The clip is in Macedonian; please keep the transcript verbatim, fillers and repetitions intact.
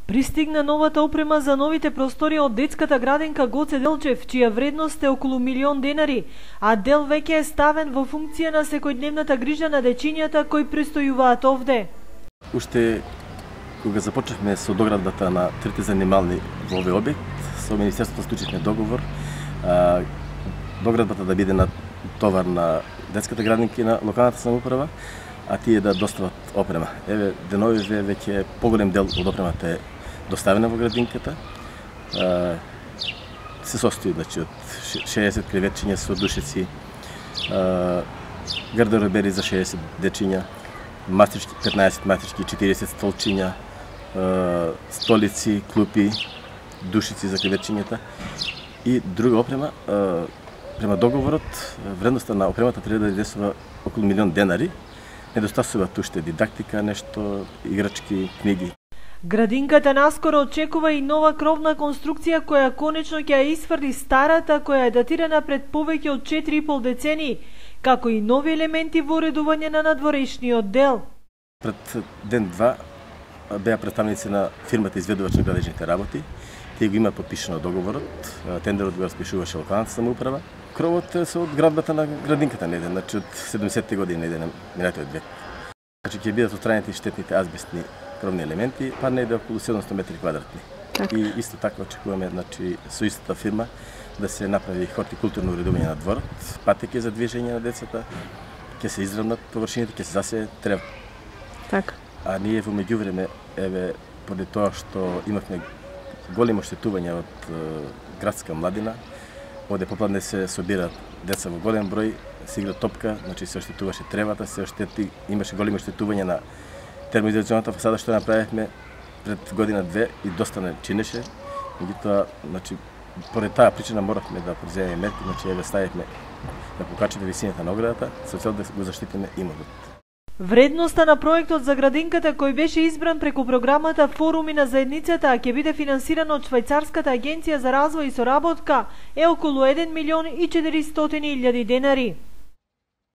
Пристигна новата опрема за новите простори од детската градинка Гоце Делчев, чија вредност е околу милион денари, а дел веќе е ставен во функција на секојдневната грижа на дечињата кои престојуваат овде. Уште кога започнавме со доградбата на трите занимални во овој објект, со Министерството склучивме договор а, доградбата да биде на товар на детската градинка на локалната самоуправа, а тие да достават опрема. Еве, деновиве веќе поголем дел од опремата е доставена во градинката. А, се состои значи, од шеесет креветчиња со душеци, а, гардеробери за шеесет дечиња, мастрички, петнаесет мастрички, четириесет столчиња, а, столици, клупи, душици за креветчињата и друга опрема. А, према договорот, вредноста на опремата треба да излесува околу милион денари. Недостасуваат уште дидактика, нешто, играчки, книги. Градинката наскоро очекува и нова кровна конструкција која конечно ќе ја исфрли старата која е датирана пред повеќе од четири и пол децении, како и нови елементи во уредување на надворешниот дел. Пред ден-два беа представници на фирмата изведувач на градежните работи. Тие го има подпишано договорот, тендерот го распишуваше локалната самоуправа. Кровот е со од градбата на градинката неден, значи од седумдесетте години неден на минатиот век. Значи ќе бидат отстранети штетните азбестни кровни елементи, па неде околу седумстотини метри квадратни. Така. И исто така очекуваме значи со истата фирма да се направи хортикултурно уредување на дворот, патеки за движење на децата, ќе се изравнат површините, ќе се засее трев. Така. А ние во меѓувреме, еве, поради тоа што имавме големо оштетување од е, градска младина, оде попладне се собираат деца во голем број, се игра топка, значи се оштетуваше тревата, се оштети, имаше големи оштетување на термоизолационата фасада што направивме пред година-две и доста не чинеше. Меѓутоа, значи, поред таа причина моравме да преземеме мерки, значи еве ставивме да покачиме висината на оградата, со цел да го заштитиме имот. Вредноста на проектот за градинката кој беше избран преку програмата Форуми на заедницата, а ќе биде финансиран од Швајцарската агенција за развој и соработка, е околу еден милион и четиристотини илјади денари.